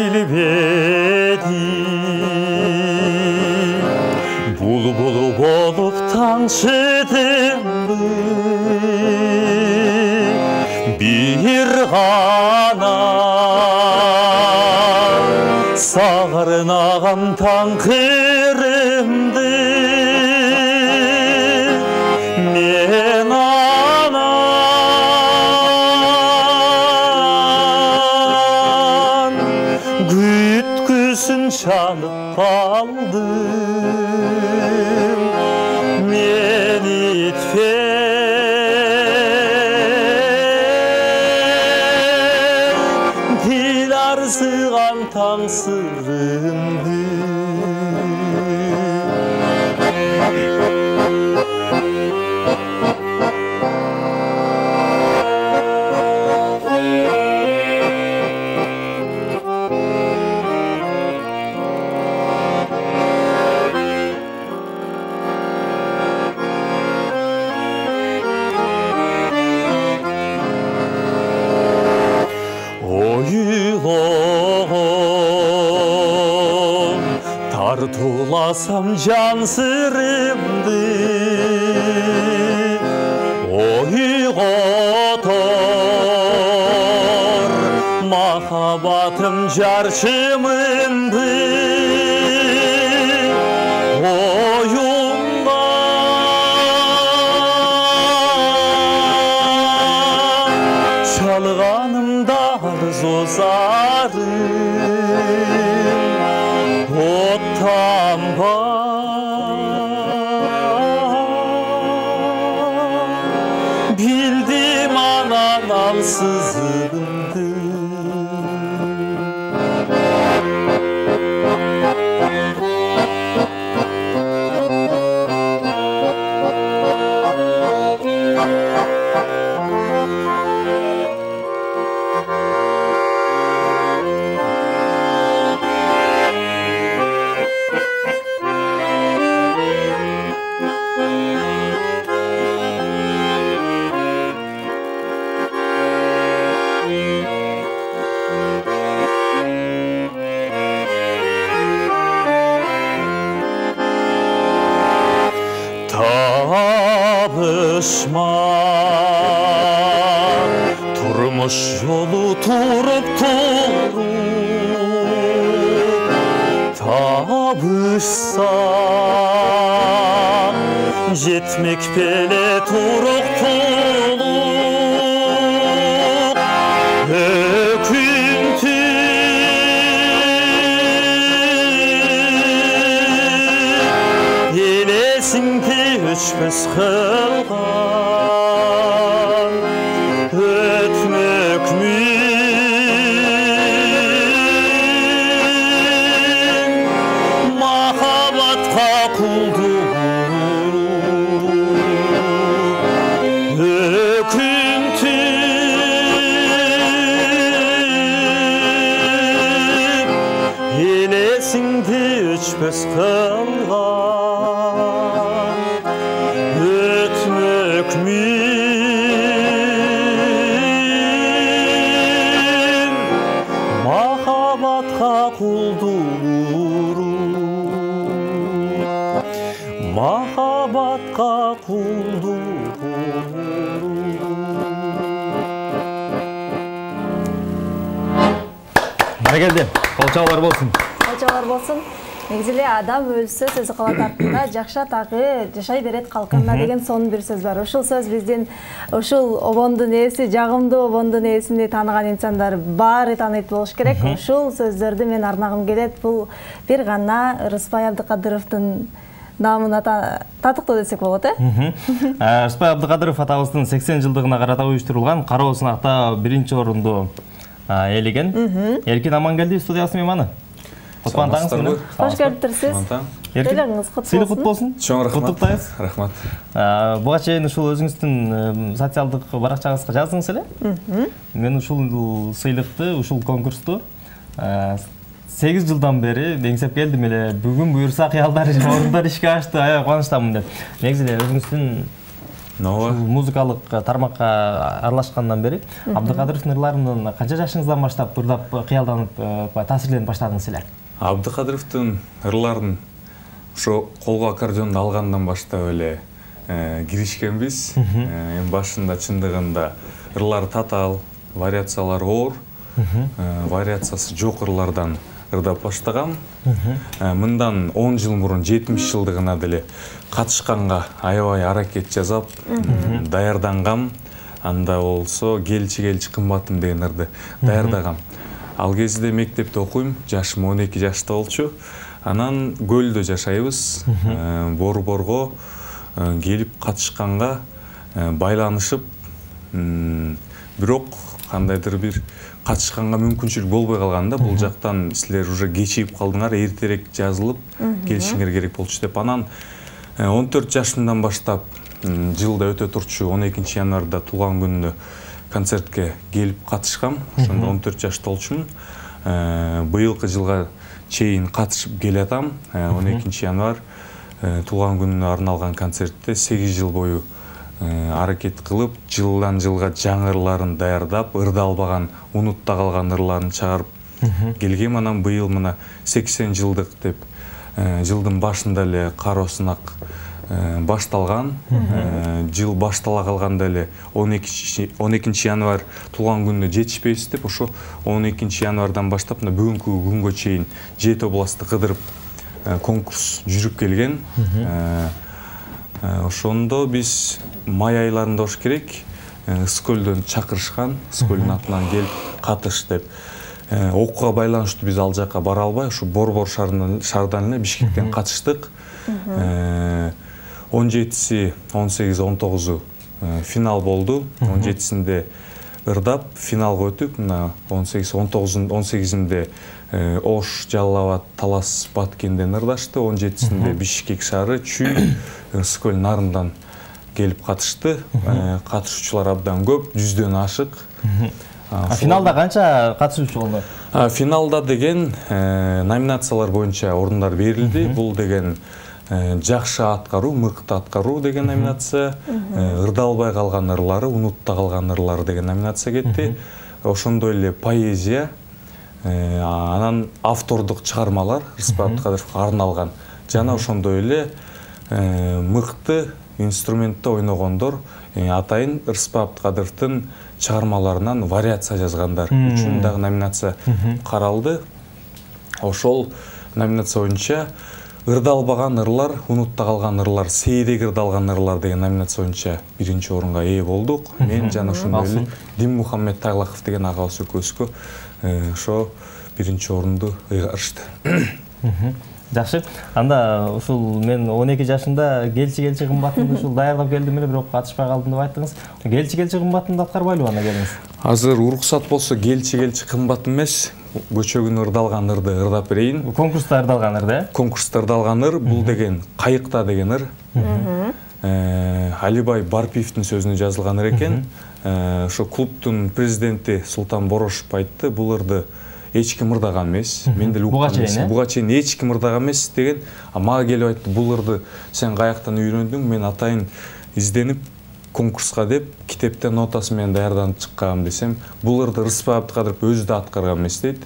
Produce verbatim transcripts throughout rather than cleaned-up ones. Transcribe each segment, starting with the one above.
билбеди булбул болуп таңшыдымбы бир гана сагырнаган таң кырымды мен анан күткүсүн чанып калдым мен итпен дил арзыган таң сырымды ойлогом тартууласам жан сырымды ойготор махаббатым жарчымымды оюмда чалганымда арзу зарым оттанба билдим анан алсызымды табышмак турмуш жолу туруп туруп табышсак жетмек беле туруктулук өкүнтү элесиңди өчпөс кылган өтмөкмүн махаббатка кулдук өкүнтү элесиңди өчпөс кылган өтмөкмүн махаббатка кулдуруу махаббатка кулдуруу Баракелде, кол чабуулар болсун. Кол чабуулар болсун. Негизи эле адам өлсө сөзү калат артында, жакшы атагы жашай берет калканына деген сонун бир сөз бар. Ушул сөз биздин ушул обондун ээси, жагымдуу обондун ээсини тааныган инсандар баары тааныйт болуш керек. Ушул сөздөрдү мен арнагым келет. Бул бир гана Рыспай Абдыкадыровдун намына татыктуу десек болот, э? Рыспай Абдыкадыров атабыздын сексен жылдыгына карата уюштурулган кароо сынакта биринчи орунду ээлеген. Эркин Амангелди студиясы мейманы. Кутлуктаңыз. Кош келиптирсиз. Тойлоруңуз кут болсун. Сыйлык кут болсун. Чоң рахмат. Куттуктайбыз. Рахмат. Буга чейин ушул өзүңүздүн социалдык баракчаңызга жаздыңыз эле. Мен ушул сыйлыкты, ушул конкурсту сегиз жылдан бери деңсеп келдим эле. Бүгүн буюрса кыялдар орундар ишке ашты, аябай кубанычтамын деп. Негизи эле өзүңүздүн Ооба. Музыкалык тармакка аралашкандан бери Абдыкадыровдун ырларынан канча жашыңыздан баштап ырдап кыялданып, таасирленип баштадыңыз эле? Абдыкадыровдун ырларын ошо колго аккордеонду алгандан баштап эле киришкенбиз. Эми башында чындыгында ырлар татаал, вариациялары оор, вариациясы жок ырлардан ырдап баштагам. Мындан он жыл мурун жетимиш жылдыгына деле катышканга аябай аракет жасап, даярдангам. Анда болсо келчи келчи кымбатым деген ырды даярдагам. Ал кезде мектепте окуйм, жашым он эки жашта болчу. Анан көлдө жашайбыз. Борборго келип катышканга байланышып, бирок кандайдыр бир катышканга мүмкүнчүлүк болбой калганда, бул жактан силер уже кечигип калдыңар, эртерээк жазылып келишиңер керек болчу деп. Анан он төрт жашымдан баштап жылда өтө турчу он экинчи январда туулган күнүнө концертке келип катышкам. Ошондо он төрт жашта болчумун. Быйылкы жылга чейин катышып келатам. он экинчи январ туулган күнүнө арналган концертте сегиз жыл бою аракет кылып, жылдан жылга жаңы ырларын даярдап, ырдалбаган, унутта калган ырларын чыгарып келгем. Анан быйыл мына сексен жылдык деп жылдын башында эле Кароо сынак башталган. Жыл баштала калганда эле он экинчи январ туулган күнүнө жетишпейбиз деп, ошо он экинчи январдан баштап мына бүгүнкү күнгө чейин жети областты кыдырып конкурс жүрүп келген. Ошондо биз май айларында болуш керек, Ысыкөлдөн чакырышкан, Ысыкөлдүн атынан келип катыш деп. Окууга байланыштуу биз ал жака бара албай, ушу Борбор шаардан эле Бишкектен катыштык. он жетиси, он сегизи, он тогузу финал болду. он жетисинде ырдап финалга өтүп, мына он сегизи, он тогузунда, он сегизинде Ош, Жалал Абад, Талас, Баткенден ырдашты. он жетисинде Бишкек шаары, Чүй, Ысыкөл нарындан келип катышты. Катышуучулар абдан көп, жүздөн ашык. Финалда канча катышуучу болду? Финалда деген номинациялар боюнча орундар берилди. Бул деген жакшы аткаруу, мыкты аткаруу деген номинация, ырдалбай калган ырлары, унутта калган ырлар деген номинация кетти. Ошондой эле поэзия, анан автордук чыгармалар Рыспай Абдыкадыровго арналган жана ошондой эле мыкты инструментте ойногондор, атайын Рыспай Абдыкадыровдун чыгармаларынан вариация жазгандар үчүн дагы номинация каралды. Ошол номинация боюнча ырдалбаган ырлар, унутта калган ырлар, сейрек ырдалган ырлар деген номинация боюнча биринчи орунга ээ болдук. Мен жана ошондой эле Дим Мухаммед Тайлаков деген агабыз экөөбүзгө ошо биринчи орунду ыйгарышты. Жакшы. Анда ушул мен он эки жашында келчи келчи кымбатымды ушул даярдап келдим эле, бирок катышпай калдым деп айттыңыз. Келчи келчи кымбатымды аткарбайлыбы анда келиңиз? Азыр уруксат болсо келчи келчи кымбат эмес, көчөгүн ырдалган ырды ырдап берейин. Конкурста ырдалган ыр да? Конкурста ырдалган ыр, бул деген Кайыкта деген ыр. Алибай Барпиевдин сөзүнө жазылган ыр экен. Ошо клубдун президенти Султан Борошев айтты, бул ырды эч ким ырдаган эмес. Мен деле уккан эмес. Буга чейин эч ким ырдаган эмес деген. А мага келип айтты, бул ырды сен каяктан үйрөндүң? Мен атайын изденип конкурска деп китептен нотасы менен даярданып чыккам десем, бул ырды Рыспай Абдыкадыров өзү да аткарган эмес дейт.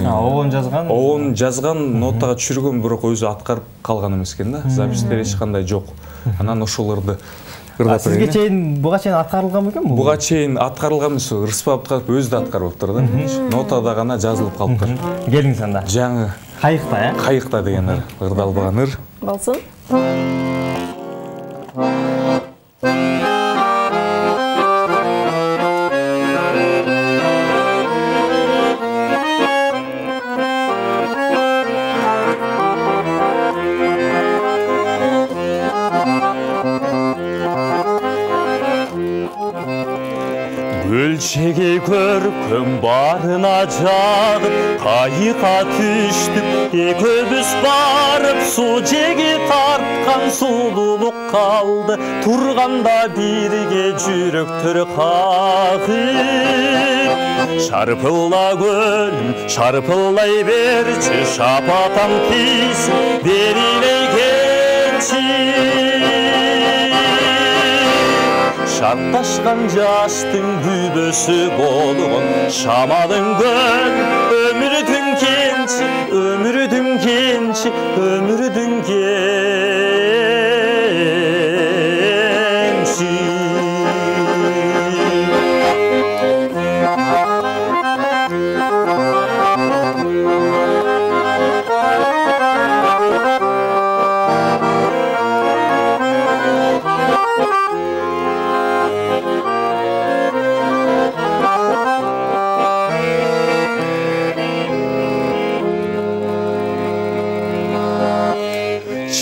Обон жазган? Обон жазган, нотага түшүргөн, бирок өзү аткарып калган эмес экен да. Запистер эч кандай жок. Анан ошол ырды ырдап берген. Сизге чейин буга чейин аткарылган бекен бул? Буга чейин аткарылган эмес, Рыспай Абдыкадыров өзү да аткарып атыр да. Нотада гана жазылып калыптыр. Келиңиз анда. Жаңы Кайыкта, э? Кайыкта деген ыр, ырдалбаган ыр. Болсун. Өлчеге көркөм барына жагып, кайыкка түштүк, экөөбүз барып, суу жеги тарткан сулуулук калды. Турганда бирге жүрөктөр кагып, шарпылла көлүм, шарпыллай берчи, шапатам тийсин, берилей келчи. шартташкан жаштын күбөсү болгон шамалың көл өмүрдүн кенчи өмүрдүн кенчи өмүрдүн кенчи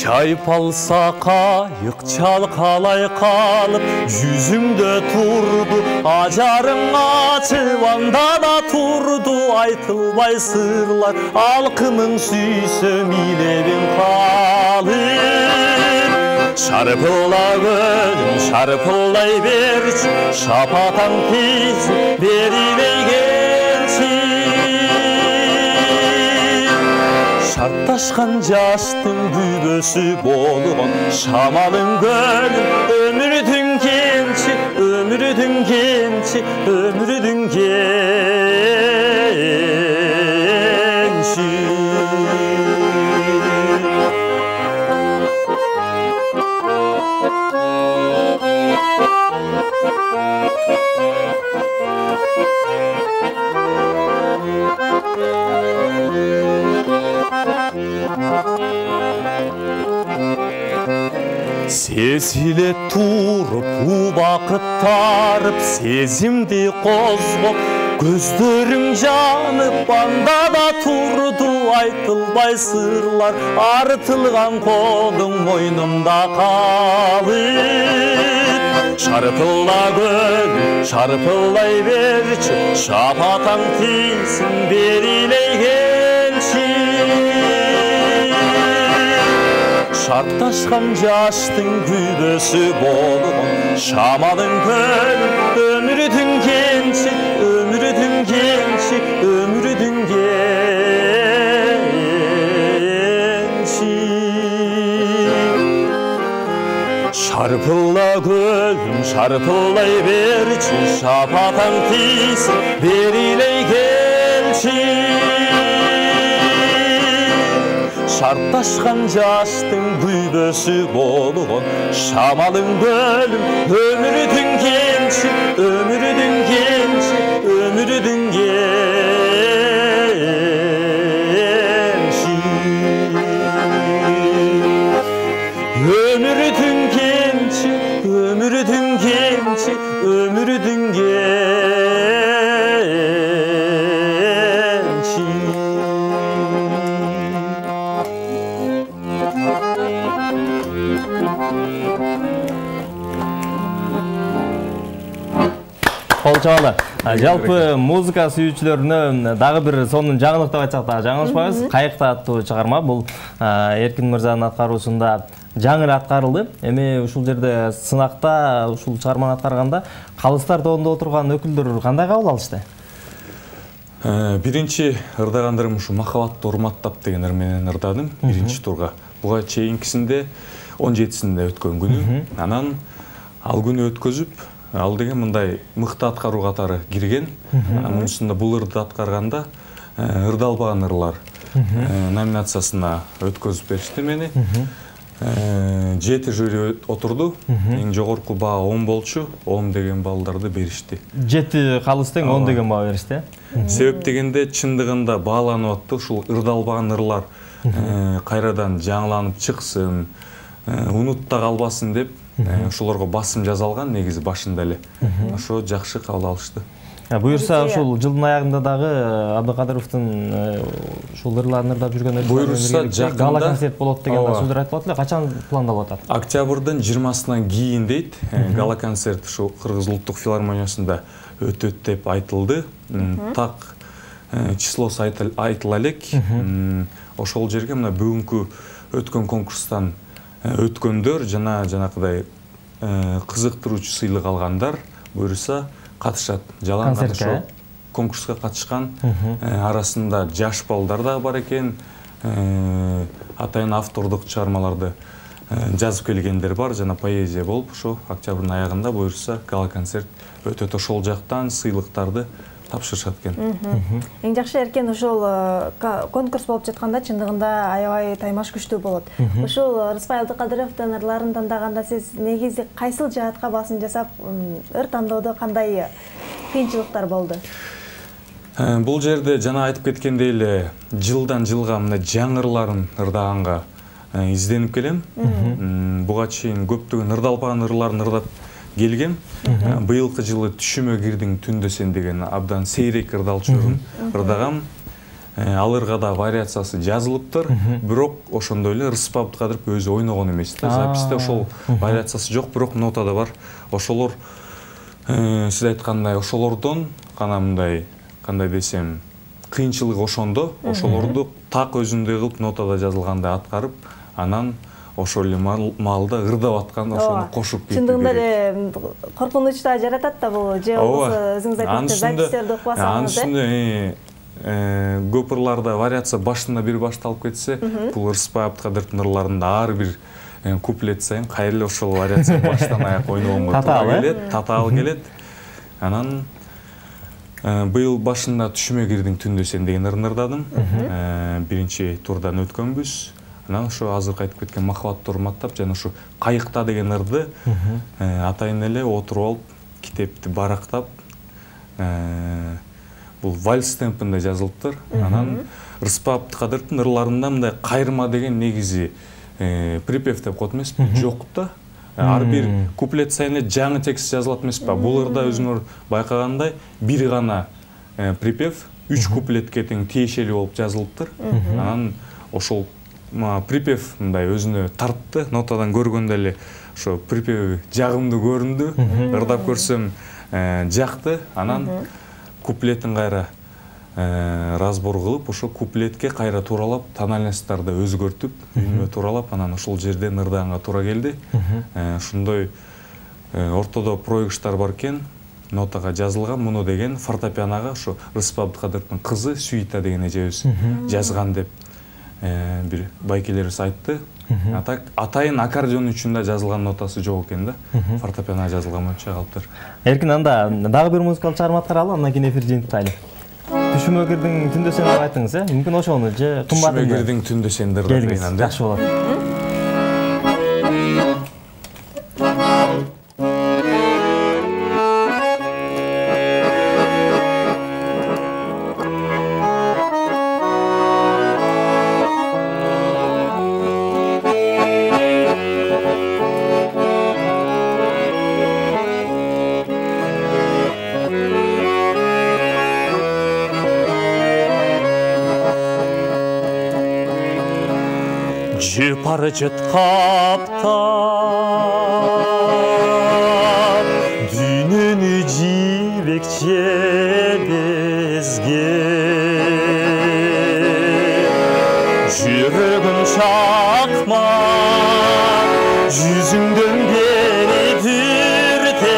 чайпалса кайык чалкалай калып жүзүмдө турду ажарың ачып анда да турду айтылбай сырлар алкымың сүйсөм илебин калып шарпыла көлүм шарпылдай берчи шапатаң тиз берилей келчи шартташкан жаштын күбөсү болгон шамалың көлүм өмүрдүн кенчи өмүрдүн кенчи өмүрдүн кенчи сезиле туруп убакыт тарып сезимди козгоп көздөрүң жанып анда да турду айтылбай сырлар артылган колуң мойнумда калып шарпыла көлүм шарпылдай берчи шапатаң тийсин берилей келчи шартташкан жаштын күбөсү болгон шамалың көлүм өмүрдүн кенчи өмүрдүн кенчи өмүрдүн кенчи шарпыла көлүм шарпылдай берчи шапатаң тийсин берилей келчи шартташкан жаштын күбөсү болгон шамалың көлүм өмүрдүн кенчи өмүрдүн кенчи өмүрдүн кенчи өмүрдүн кенчи өмүрдүн кенчи өмүрдүн кенчи кол чабалы. Жалпы музыка сүйүүчүлөрүнө дагы бир сонун жаңылык деп айтсак да жаңылышпайбыз. Кайыкта аттуу чыгарма бул Эркин мырзанын аткаруусунда жаңы эле аткарылды. Эми ушул жерде сынакта ушул чыгарманы аткарганда калыстар тобунда отурган өкүлдөр кандай кабыл алышты? Биринчи ырдагандырым ушу махабатты урматтап деген ыр менен ырдадым биринчи турга. Буга чейинкисинде он жетисинде өткөн күнү. Анан ал күнү өткөзүп, ал деген мындай мыкты аткаруу катары кирген. Мунусунда бул ырды аткарганда ырдалбаган ырлар номинациясына өткөзүп беришти мени. Жети жюри отурду. Эң жогорку баа он болчу. он деген балдарды беришти. Жети калыс тең он деген баа беришти. Себеп дегенде чындыгында бааланып атты ушул ырдалбаган ырлар кайрадан жаңыланып чыксын, унутта калбасын деп ошолорго басым жасалган негизи башында эле. Ошо жакшы кабыл алышты. Буюрса ушул жылдын аягында дагы Абдыкадыровдун ушул ырларын ырдап жүргөн буюрса гала концерт болот деген сөздөр айтылат эле. Качан пландалып атат? Октябрдын жыйырмасынан кийин дейт. Гала концерт ушул Кыргыз улуттук филармониясында өтөт деп айтылды. Так числосу айтыла элек. Ошол жерге мына бүгүнкү өткөн конкурстан өткөндөр жана жанакыдай кызыктыруучу сыйлык алгандар буюрса катышат. Жалаң ошол конкурска катышкан арасында жаш балдар да бар экен. Атайын автордук чыгармаларды жазып келгендер бар, жана поэзия болуп, ошо октябрдын аягында буюрса гала-концерт өтөт. Ошол жактан сыйлыктарды тапшырышат экен. Эң жакшы эркен ошол конкурс болуп жатканда чындыгында аябай таймаш күчтүү болот. Ушул Рыспай Абдыкадыровдун ырларын тандаганда сиз негизи кайсыл жаатка басым жасап, ыр тандоодо кандай кыйынчылыктар болду? Бул жерде жана айтып кеткендей эле жылдан жылга мына жаңы ырларын ырдаганга изденип келем. Буга чейин көптөгөн ырдалбаган ырларын ырдап келгем. Быйылкы жылы Түшүмө кирдиң түндө сен деген абдан сейрек ырдалчу ырдагам. Ал ырга да вариациясы жазылыптыр, бирок ошондой эле Рыспай Абдыкадыров өзү ойногон эмес да. Записьте ошол вариациясы жок, бирок нотада бар. Ошолор сиз айткандай ошолордон гана мындай кандай десем, кыйынчылыгы ошондо, ошолорду так өзүндөй кылып нотада жазылгандай аткарып, анан ошол эле маалда ырдап аткан ошону кошуп кетти. Чындыгында эле коркунуч да жаратат да бул, же болбосо өзүңүз айткандай записьтерди окубасаңыз да. Анын көп ырларда вариация башында бир башталып кетсе, бул Рыспай Абдыкадыровдун ырларында ар бир куплет сайын кайра эле ошол вариация баштан аяк ойногонго туура келет, татаал келет. Анан быйыл башында Түшүмө кирдиң түндө сен деген ырын ырдадым. Биринчи турдан өткөнбүз. Анан ошо азыркы айтып кеткен Махабатты урматтап жана ошо Кайыкта деген ырды атайын эле отуруп алып, китепти барактап, бул вальс темпинде жазылыптыр. Анан Рыспай Абдыкадыровдун ырларында мындай кайырма деген негизи припев деп коет эмеспи, жок да. Ар бир куплет сайын эле жаңы текст жазылат эмеспи? Бул ырда өзүңөр байкагандай бир гана припев үч куплетке тең тиешелүү болуп жазылыптыр. Анан ошол припев мындай өзүнө тартты, нотадан көргөндө эле ошо припеви жагымдуу көрүндү, ырдап көрсөм жакты. Анан куплетин кайра разбор кылып, ошо куплетке кайра тууралап, тональностьтарды өзгөртүп, үнүмө тууралап, анан ошол жерден ырдаганга туура келди. Ушундай ортодо проигрыштар бар экен, нотага жазылган. Муну деген фортепианога ошо Рыспай Абдыкадыровдун кызы Сүйита деген эжебиз жазган деп бир байкелерибиз айтты. Атайын аккордеон үчүн да жазылган нотасы жок экен да. Фортепианога жазылган боюнча калыптыр. Эркин, анда дагы бир музыкалык чыгарма аткаралы, андан кийин эфир жыйынтыктайлы. Түшүмө кирдиң түндө сен деп айттыңыз, э? Мүмкүн ошону же кымбатын? Түшүмө кирдиң түндө сен деп айткан. Жакшы болот. Жыпары жыткаптап дүйнөнү жибекчебезге жүрөгүм чакма жүзүңдөн бери дүртеткен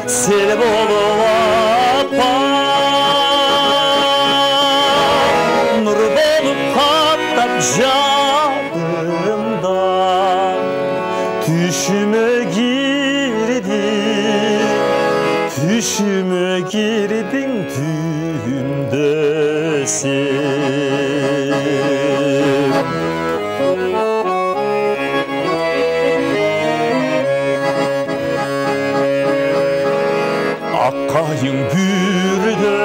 сел болуп жадымда түшүмө кирдиң, түшүмө кирдиң түндө сен. Аккайың бүрдө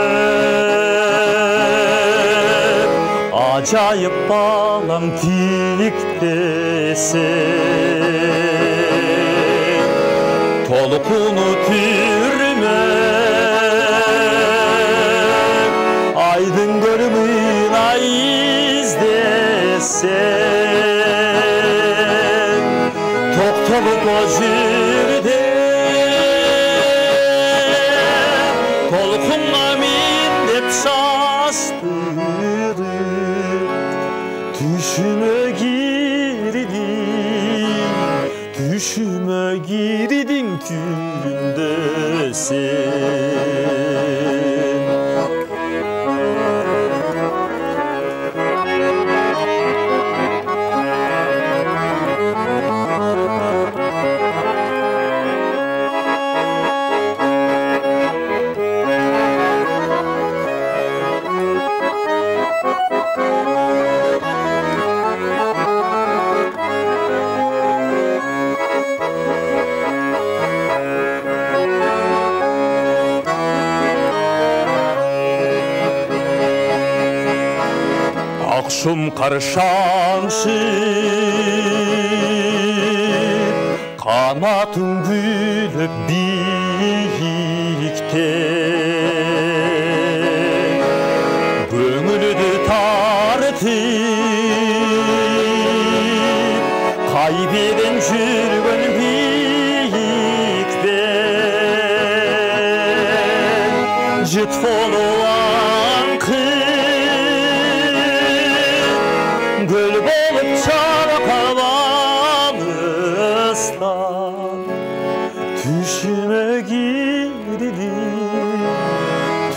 ажайып балам тиктесең, толкуну түрмө айдын көрмөйүн ай издесең, токтолуп о жерде толкунга мен деп шаштырып түшүмө кирдиң, түшүмө кирдиң түндө сен. акшым каршаңшы канатың күлүп биикте көңүлдү тартып кайберен жүргөн биикпен жыт болгон гүл болып чарқаланыстан түшіме кирдиң,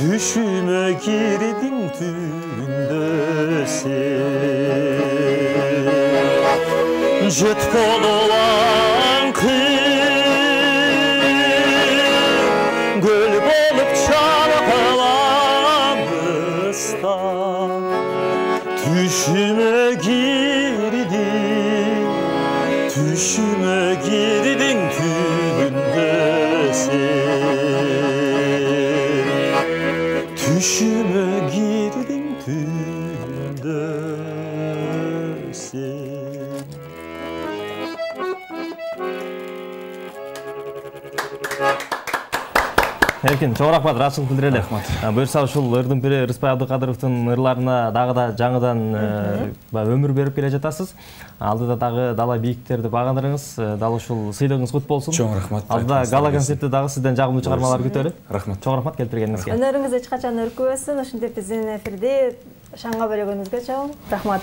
түшіме кирдиң түнде сен. Жыт болған гүл болып чарқаланыстан түшіме кирдиң, түшіме кирдиң түнде сен. Түшіме кирдиң түнде сен. Эркин, чоң рахмат, ыраачылык билдирели. Буюрса ушул ырдын пири Рыспай Абдыкадыровдун ырларына дагы да жаңыдан өмүр берип келе жатасыз. Алдыда дагы дала бийиктерди багындырыңыз. Дал ушул сыйлыгыңыз кут болсун. Чоң рахмат. Алдыда гала концертте дагы сизден жагымдуу чыгармалар күтөлү. Рахмат. Чоң рахмат келтиргениңизге. Өнөрүңүз эч качан өркүбөсүн. Ушинтип биздин эфирди шаңга бөлөгөнүңүзгө чоң рахмат.